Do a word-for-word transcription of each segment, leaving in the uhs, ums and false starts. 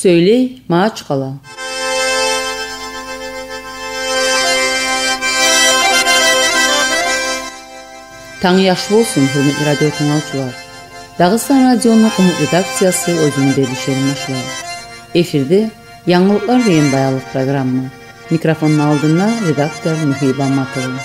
Сёйлей Магьачкъала. Танг яхшы болсун, гьюрметли радио тынглавчулар. Дагъыстан радиону къумукъ редакциясы оьзюню берилишин башлай. Эфирде «Янгылыкълар» деген баянлыкъ программа. Микрофонну алдында редактор Мугьиб Аматова.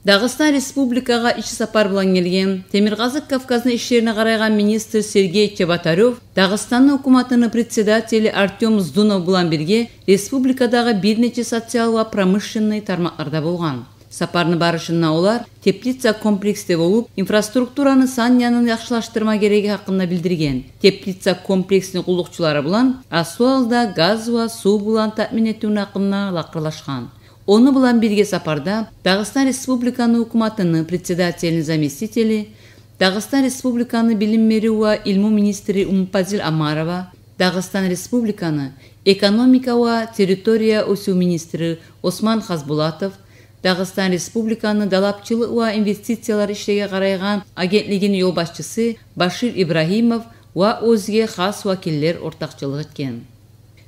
Дагъыстан Республикагъа иш сапар булан гелген Темиркъазыкъ Кавказны ишлерине къарайгъан министр Сергей Чеботарёв Дагъыстанны гьукуматыны председатели Артём Здунов булан бирге республикадагъы бир нече социал ва промышленный тармакъларда болгъан. Сапарны барышында олар теплица комплексде болуп, инфраструктураны сан янын яхшылашдырма герекли гьакъында билдирген. Теплица комплексни къуллукъчулары булан аслу гьалда газ ва сув булан таъмин этивню гьакъында лакъырлашгъан. Ону булан бирге сапарда Дагъыстан Республиканы гьукуматыны председателини заместители, Дагъыстан Республиканы билим берив ва илму министри Умупазил Омарова, Дагъыстан Республиканы экономика ва территория оьсюв министри Осман Хазбулатов, Дагъыстан Республиканы далапчылыкъ ва инвестициялар ишлеге къарайгъан агентлигини ёлбашчысы Башир Ибрагьимов ва оьзге хас вакиллер ортакъчылыкъ этген.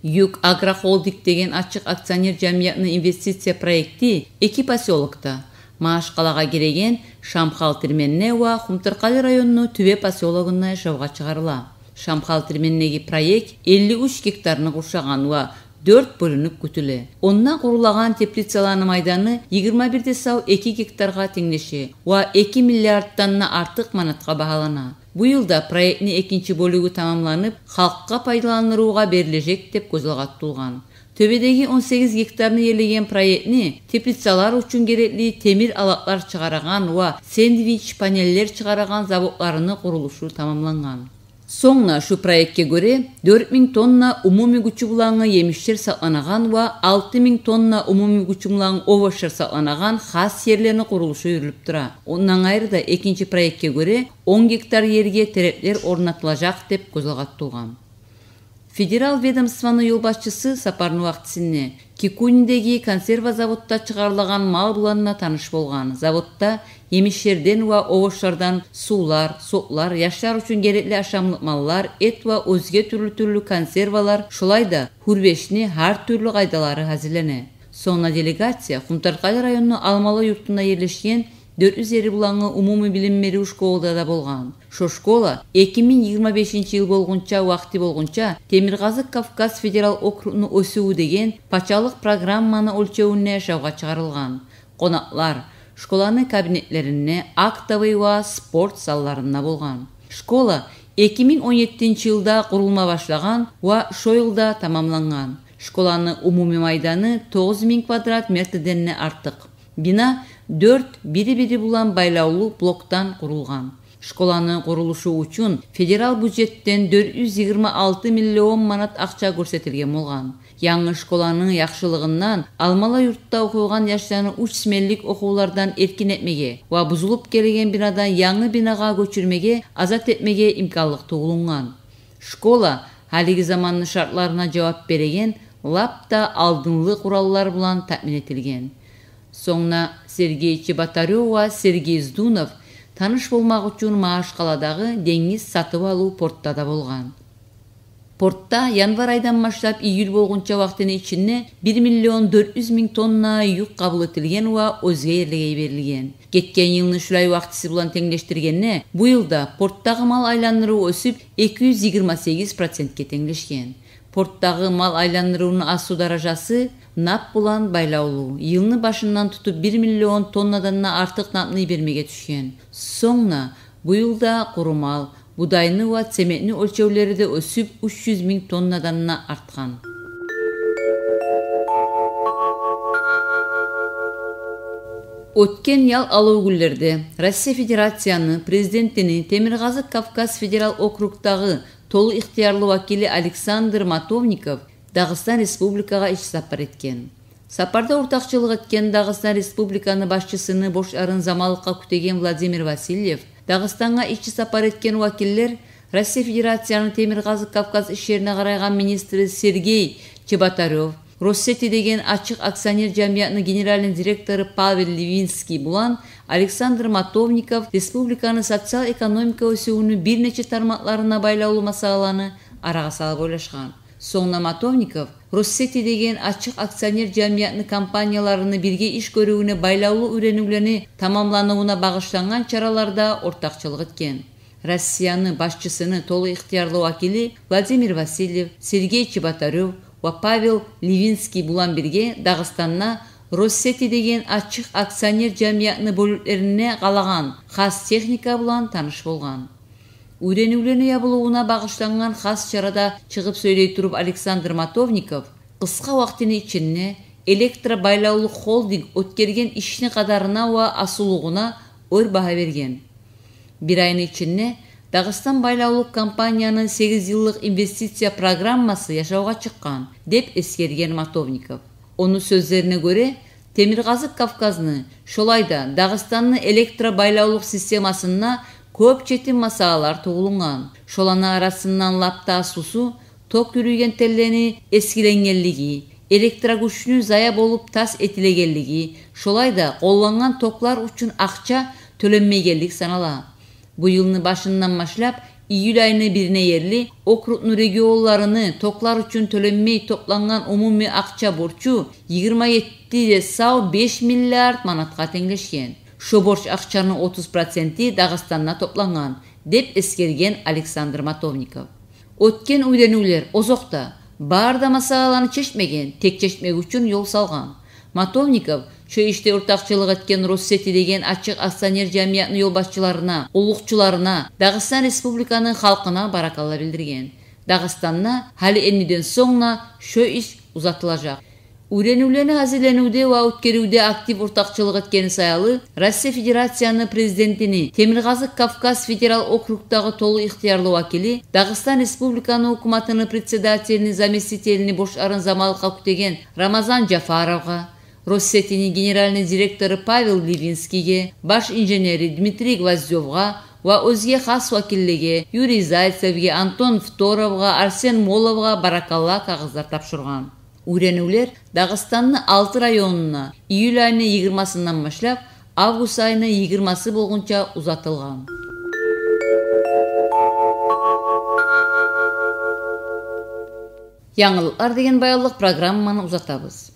«Юг Агрохолдинг» деген ачыкъ акционер жамиятны инвестиция проекти эки посёлокда, Магьачкъалагъа гиреген Шамхал Тирменде ва Хумтаркъали районну Тюбе посёлогунда жавгъа чыгъарыла. Шамхал Тирмендеги проект элли уьч гектарны къуршагъан ва дёрт бёлюнюп кютюле. Онда къурулагъан теплицаланы майданы йигирма бир де сав эки гектаргъа тенглеше ва эки миллиарддан да артыкъ манатгъа багьалана. Бу йылда проектни экинчи бёлюгю тамамланып, халкъгъа пайдаландырывгъа берилежек деп гёз алгъа тутулгъан. Тюбедеги он сегиз гектарны ээлеген проектни теплицалар учун герекли темир алатлар чыгъарагъан ва сэндвич панеллер чыгъарагъан заводларыны къурулушу тамамлангъан. Сонг да шу проектге гёре дёрт минг тонна умумий гючю булангъы емишлер сакъланагъан ва алты минг тонна умумий гючю булангъы овощлар сакъланагъан хас ерлени къурулушу юрюлюп тура. Ондан къайры да экинчи проектге гёре он гектар ерге тереклер орнатылажакъ деп гёз алгъа тутулгъан. Федерал ведомствону ёлбашчысы сапарны вакътисинде Кикунидеги консерва заводда чыгъарылагъан мал булан да таныш болгъан. Заводда емишлерден ва овощлардан сувлар, соклар, яшлар учун герекли ашамлыкъ маллар, эт ва оьзге тюрлю-тюрлю консервалар, шолай да гьурбешни гьар тюрлю къайдалары гьазирлене. Сонг да делегация Хумтаркъали районну Алмалы юртунда ерлешген дёрт юз ери булангъы умумий билим берив школада да болгъан. Шо школа эки минг йигирма бешинчи йыл болгъунча, вакъти болгъунча, Темиркъазыкъ Кавказ федерал округну «Оьсювю» деген пачалыкъ программаны оьлчевюнде жавгъа чыгъарылгъан. Къонакълар школаны кабинетлеринде, актовый ва спорт залларында болгъан. Школа эки минг он еттинчи йылда къурулма башлагъан ва шо йылда тамамлангъан. Школаны умумий майданы тогъуз минг квадрат метрден де артыкъ. Бина дёрт бири-бири булан байлавлу блокдан къурулгъан. Школаны къурулушу учун федерал бюджетден дёрт юз йигирма алты миллион манат акъча гёрсетилген болгъан. Янгы школаны яхшылыгъындан Алмалы юртда охуйгъан яшланы уьч сменлик охувлардан эркин этмеге ва бузулуп гелеген бинадан янгы бинагъа гёчюрмеге, азат этмеге имканлыкъ тувулунгъан. Школа гьалиги заманны шартларына жавап береген лап да алдынгъы къураллар булан таъмин этилген. Сонг да Сергей Чеботарёв ва Сергей Здунов таныш болмакъ учун Магьачкъаладагъы денгиз сатып алыв портда да болгъан. Портда январь айдан башлап июль болгъунча вакътини ичинде бир миллион дёрт юз минг тонна юк къабул этилген ва оьзге ерлеге йиберилген. Гетген йылны шулай вакътиси булан тенглешдиргенде, бу йылда портдагъы мал айландырыв оьсюп, эки юз йигирма сегиз процентге тенглешген. Портдагъы мал айландырывну аслу даражасы нап булан байлавлу. Йылны башындан тутуп бир миллион тоннадан да артыкъ напны йибермеге тюшген. Сонг да бу йылда къуру мал, будайны ва цементни оьлчевлери де оьсюп, уьч юз минг тоннадан да артгъан. Оьтген ял алав гюнлерде Россия Федерацияны Президентини Темиркъазыкъ Кавказ федерал округдагъы толу ихтиярлы вакили Александр Матовников Дагъыстан Республикагъа иш сапар этген. Сапарда ортакъчылыкъ этген Дагъыстан Республиканы башчысыны борчларын заманлыкъгъа кютеген Владимир Васильев, Дагъыстангъа иш сапар этген вакиллер Россия Федерацияны Темиркъазыкъ Кавказ ишлерине къарайгъан министри Сергей Чеботарёв, Россети деген ачыкъ акционер жамиятны генеральный директору Павел Ливинский булан Александр Матовников республиканы социал-экономика оьсювюню бир нече тармакъларына байлавлу масъалаланы арагъа салып ойлашгъан. Сонг да Матовников Россети деген ачыкъ акционер жамиятны компанияларыны бирге иш гёрювюне байлавлу уьйренивлени тамамланывуна багъышлангъан чараларда ортакъчылыкъ этген. Россияны башчысыны толу ихтиярлы вакили Владимир Васильев, Сергей Чеботарёв ва Павел Ливинский булан бирге Дагъыстанда Россети деген ачыкъ акционер жамиятны бёлюклерине къалагъан хас техника булан таныш болгъан. Уьйренивлени ябылывуна багъышлангъан хас чарада чыгъып сёйлей туруп Александр Матовников къысгъа вакътини ичинде электробайлавлу холдинг оьтгерген ишни къадарына ва асыллыгъына оьр багьа берген. Бир айны ичинде Дагъыстан байлавлу компанияны сегиз йыллыкъ инвестиция программасы яшавгъа чыкъгъан, деп эсгерген Матовников. Ону сёзлерине гёре, Темиркъазыкъ Кавказны, шолай да Дагъыстанны электробайлавлукъ системасында кёп четим масъалалар тувулунгъан. Шоланы арасындан лап да аслусу ток юрюйген теллени эсгиленгенлиги, электрогючню зая болуп тас этилегенлиги, шолай да къоллангъан токлар учун акъча тёленмейгенлик санала. Бу йылны башындан башлап июль айны бирине ерли округну регионларыны токлар учун тёленмей топлангъан умумий акъча борчу йигирма етти де сав беш миллиард манатгъа тенглешген. Шо борч акъчаны отуз проценти Дагъыстанда топлангъан, деп эсгерген Александр Матовников. Оьтген уьйренивлер озокъда, бары да масъалаланы чечмеген, тек чечмек учун ёл салгъан. Матовников шо ишде ортакъчылыкъ этген Россети деген ачыкъ акционер жамиятны ёлбашчыларына, къуллукъчуларына, Дагъыстан Республиканы халкъына баракалла билдирген. Дагъыстанда гьали эндиден сонг да шо иш узатылажакъ. Уьйренивлени гьазирленивде ва оьтгерювде актив ортакъчылыкъ этгени саялы Россия Федерацияны Президентини Темиркъазыкъ Кавказ федерал округдагъы толу ихтиярлы вакили, Дагъыстан Республиканы гьукуматыны председателини заместителини борчларын заманлыкъгъа кютеген Рамазан Жафаровгъа, Россетини генеральный директору Павел Ливинскийге, баш инженери Дмитрий Гвоздёвгъа ва оьзге хас вакиллеге, Юрий Зайцевге, Антон Фторовгъа, Арсен Моловгъа баракалла кагъызлар тапшургъан. Уьйренивлер Дагъыстанны алты районуна июль айны йигирмасындан башлап август айны йигирмасы болгъунча узатылгъан. Янгылыкълар деген баянлыкъ программаны узатабыз.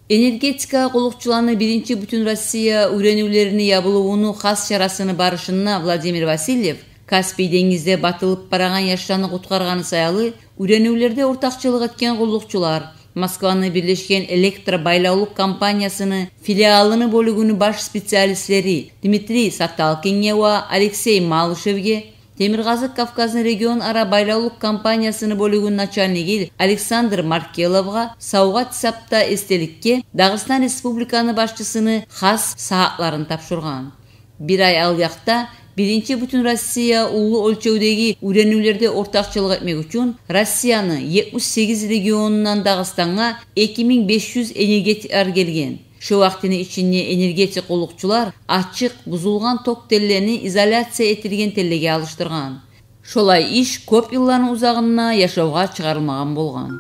Энергетика къуллукъчуланы биринчи Бютюн Россия уьйренивлерини ябылывуну хас чарасыны барышында Владимир Васильев Каспий денгизде батылып барагъан яшланы къутгъаргъаны саялы уьйренивлерде ортакъчылыкъ этген къуллукъчулар, Москваны Бирлешген электробайлавлукъ компаниясыны филиалыны бёлюгюню баш специалистлери Дмитрий Саталкинге ва Алексей Малышевге, Темиркъазыкъ Кавказны регионара байлавлукъ компаниясыны бёлюгюню начальниги Александр Маркеловгъа савгъат гьисапда эсделикге Дагъыстан Республиканы башчысыны хас сагьатларын тапшургъан. Бир ай алъякъда биринчи Бютюн Россия уллу оьлчевдеги уьйренивлерде ортакъчылыкъ этмек учун Россияны етмиш сегиз регионундан Дагъыстангъа эки минг беш юз энергетиклер гелген. Шо вакътини ичинде энергетик къуллукъчулар ачыкъ, бузулгъан ток теллени изоляция этилген теллеге алышдыргъан. Шолай иш кёп йылланы узагъында яшавгъа чыгъарылмагъан болгъан.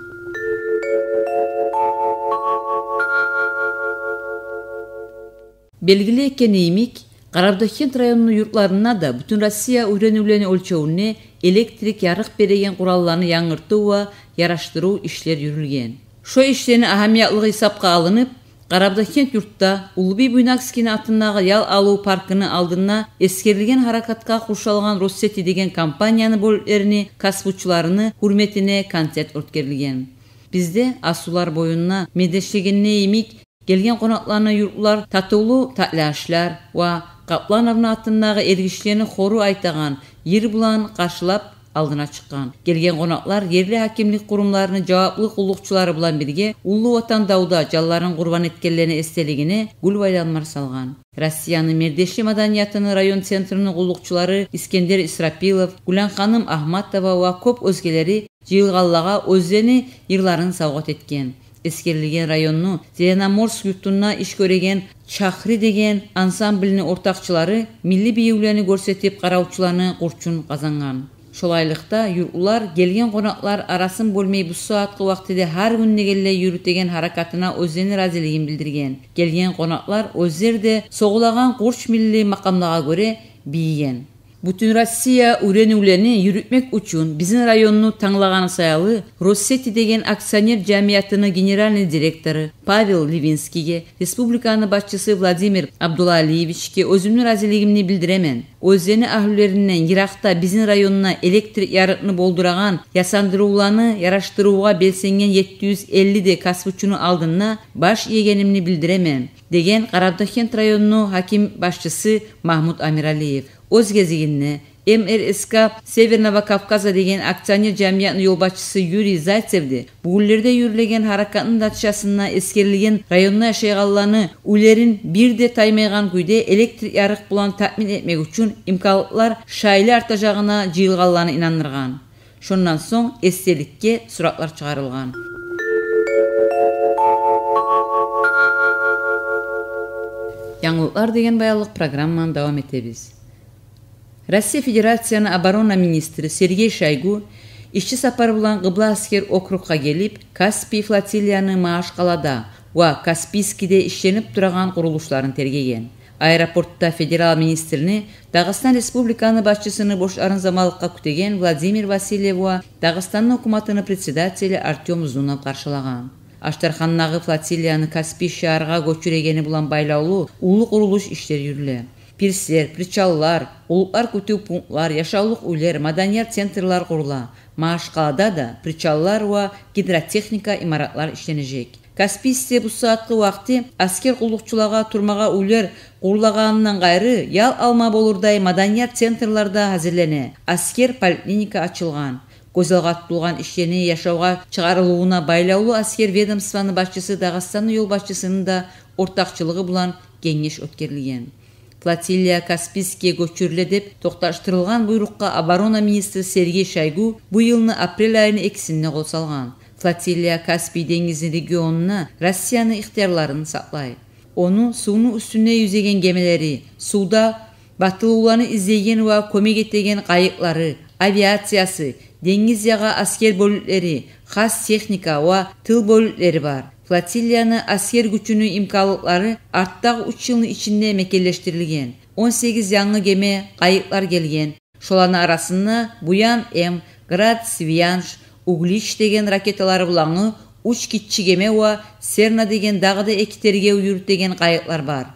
Белгили экени йимик, Къарабудагъгент районну юртларында да Бютюн Россия уьйренивлени оьлчевюнде электрик ярыкъ береген къуралланы янгыртыв ва ярашдырыв ишлер юрюлген. Шо ишлени агьамиятлыгъы гьисапгъа алынып, Къарабудагъгент юртда Уллубий Буйнакскийни атындагъы ял алыв паркыны алдында эсгерилген гьаракатгъа къуршалгъан Россети деген компанияны бёлюклерини касбучуларыны гьюрметине концерт оьтгерилген. Бизде асулар боюнда мелдешлегенде йимик, гелген къонакъланы юртлар татывлу татли ашлар ва Къаплановну атындагъы эргишилени хору айтагъан йыр булан къаршылап алдына чыкъгъан. Гелген къонакълар ерли гьакимлик къурумларыны жаваплы къуллукъчулары булан бирге Уллу Ватан давда жанларын къурбан этгенлени эсделигине гюл байрамлар салгъан. Россияны мелдешли маданиятыны район центрини къуллукъчулары Искендер Исрапилов, Гюланханым Агьматова ва кёп оьзгелери жыйылгъанлагъа оьзлени йырларын савгъат этген. Эсгерилген районну Зеленоморск юртунда иш гёреген «Чахри» деген ансамблни ортакъчылары милли бийивлени гёрсетип, къаравчуланы къурчун къазангъан. Шолайлыкъда, юртлулар гелген къонакълар арасын бёлмей, бу сагьатгъы вакътиде гьар гюн дегенлей юрютеген гьаракатына оьзлени разилигин билдирген. Гелген къонакълар оьзлер де согъулагъан къурч милли макъамлагъа гёре бийиген. Бютюнроссия уьйренивлени юрютмек учун бизин районну танглагъаны саялы, «Россети» деген акционер жамиятыны генеральный директору Павел Левинскийге, республиканы башчысы Владимир Абдулалиевичге оьзюмню разилигимни билдиремен. Оьзлени агьлюлеринден йыракъда бизин районда электр ярыкъны болдурагъан ясандырывланы ярашдырывгъа белсенген етти юз элли де касбучуну алдында баш иегенимни билдиремен, — деген Къарабудагъгент районну гьаким башчысы Магьмут Амиралиев. Оьз гезигинде, М Р С К Северного Кавказа деген акционер жамиятны ёлбашчысы Юрий Зайцев де бугюнлерде юрюлеген гьаракатны натижасында эсгерилген районда яшайгъанланы уьйлерин бир де таймайгъан кюйде электр ярыкъ булан таъмин этмек учун имканлыкълар шайлы артажагъына жыйылгъанланы инандыргъан. Шондан сонг эсделикге суратлар чыгъарылгъан. Янгылыкълар деген баянлыкъ программаны давам этебиз. Россия Федерацияны оборона министри Сергей Шойгу ишчи сапар булан Къыбла аскер округъа гелип, Каспий флотилияны Магьачкъалада ва Каспийскиде ишленип турагъан къурулушларын тергеген. Аэропортда федерал министрни Дагъыстан Республиканы башчысыны бошларын заманлыкъгъа кютеген Владимир Васильев ва Дагъыстанны гьукуматыны председатели Артём Зунов къаршылагъан. Аштархандагъы флотилияны Каспий шагьаргъа гёчюрегени булан байлавлу уллу къурулуш ишлер юрюле. Пирслер, причаллар, къуллукълар кютюв пунктлар, яшавлукъ уьйлер, маданият центрлер къурула. Магьачкъалада да причаллар ва гидротехника имаратлар ишленежек. Каспийскиде бу сагьатгъы вакъти аскер къуллукъчулагъа турмагъа уьйлер къурулагъанындан къайры, ял алма болурдай маданият центрлер де гьазирлене. Аскер поликлиника ачылгъан. Гёз алгъа тутулгъан ишлени яшавгъа чыгъарылывуна байлавлу аскер ведомствоны башчысы Дагъыстанны ёлбашчысыны да ортакъчылыгъы булан генгеш оьтгерилген. Флотилия Каспийскиге гёчюрюле деп токъташдырылгъан буйрукъгъа оборона министри Сергей Шойгу бу йылны апрель айыны экисинде къол салгъан. Флотилия Каспий денгизни регионунда Россияны ихтиярларын сакълай. Ону сувну уьстюнде юзеген гемелери, сувда батылывланы излейген ва кёмек этеген къайыкълары, авиациясы, денгиз ягъа аскер бёлюклери, хас техника ва тыл бёлюклери бар. Флотилияны аскер гючюню имканлыкълары артдагъы уьч йылны ичинде мекенлешдирилген. Он сегиз янгы геме, къайыкълар гелген. Шоланы арасында Буян М, Град, Свианш, Углич деген ракеталары булангъы уьч гиччи геме ва Серна деген дагъы да эки тергев юрютеген къайыкълар бар.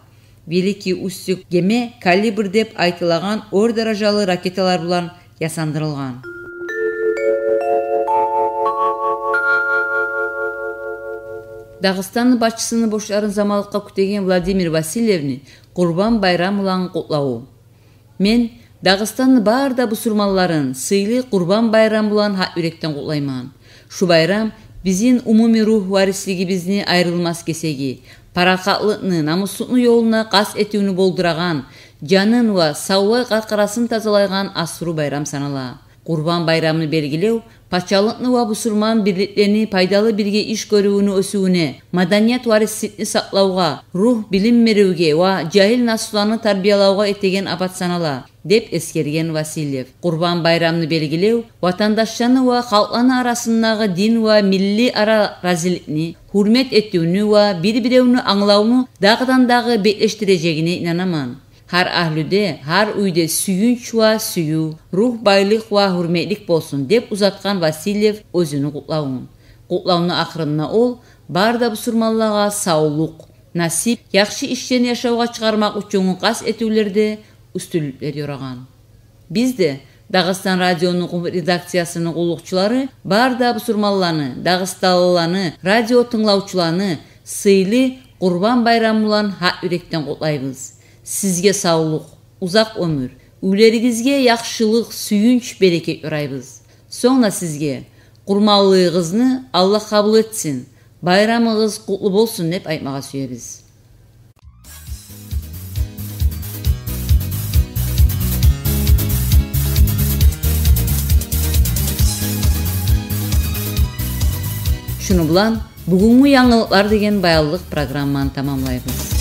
Великий Устюг геме «Калибр» деп айтылагъан оьр даражалы ракеталар булан ясандырылгъан. Дагъыстанны башчысыны бошларын заманлыкъгъа кютеген Владимир Васильевни Къурбан байрам булан къутлаву. Мен Дагъыстанны бары да бусурманларын сыйлы Къурбан байрам булан гьакъ юрекден къутлайман. Шу байрам бизин умумий ругь варислигибизни айрылмас гесеги, парахатлыкъны, намуслукъну ёлуна къаст этивню болдурагъан, жанын ва савлай къаркъарасын тазалайгъан асру байрам санала. Къурбан байрамны белгилев пачалыкъны ва бусурман бирликлени пайдалы бирге иш гёрювню оьсювюне, маданият варисликни сакълавгъа, ругь билим беривге ва жагьил наслуланы тарбиялавгъа этеген абат санала, деп эсгерген Васильев. Къурбан байрамны белгилев ватандашланы ва халкъланы арасындагъы дин ва милли араразиликни, гьюрмет этивню ва бир-биревню англавну дагъыдан-дагъы беклешдирежегине инанаман. Гьар агьлюде, гьар уьйде сююнч ва сююв, ругь байлыкъ ва гьюрметлик болсун, деп узатгъан Васильев оьзюню къутлавун. Къутлавну ахырында ол бары да бусурманлагъа савлукъ, насип, яхшы ишлени яшавгъа чыгъармакъ учунгъу къаст этивлерде уьстюнлюклер ёрагъан. Биз де, Дагъыстан радиону къумукъ редакциясыны къуллукъчулары, бары да бусурманланы, дагъыстанлыланы, радио тынглавчуланы сыйлы Къурбан байрам булан гьакъ юрекден къутлайбыз. Сизге савлукъ, узакъ оьмюр, уьйлеригизге яхшылыкъ, сююнч, берекет ёрайбыз. Сонг да сизге къурманлыгъыгъызны Аллагь къабул этсин, байрамыгъыз къутлу болсун деп айтмагъа сюебиз. Шуну булан бугюнгю янгылыкълар деген баянлыкъ программаны тамамлайбыз.